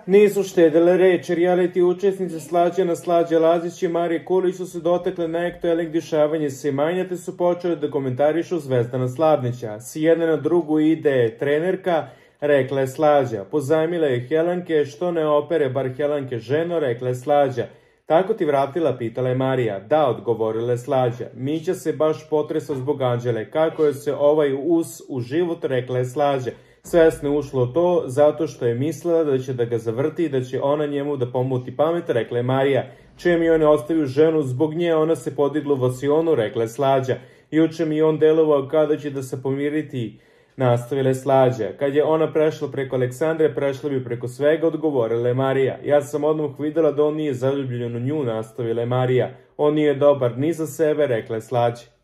Nisu štedile reči, reality učesnice Slađana Slađa Lazić i Marije Kulić su se dotakle neaktuelnih dešavanja Semanja te su počeli da komentarišu Zvezdana Slavnića. S jedne na drugu ide trenerka, rekla je Slađa. Pozajmila je Helenke, što ne opere bar Helenke ženo, rekla je Slađa. Tako ti vratila, pitala je Marija. Da, odgovorila je Slađa. Mića se baš potresao zbog Anđele. Kako je se ovaj u život, rekla je Slađa. Svesno ušlo to zato što je mislila da će da ga zavrti i da će ona njemu da pomuti pamet, rekla je Marija. Čem je on ostavio ženu zbog nje, ona se podigla u vasionu, rekla je Slađa. Juče mi on delovao kada će da se pomiriti, nastavila je Slađa. Kad je ona prešla preko Aleksandre, prešla bi preko svega, odgovorila je Marija. Ja sam odmah videla da on nije zaljubljen u nju, nastavila je Marija. On nije dobar ni za sebe, rekla je Slađa.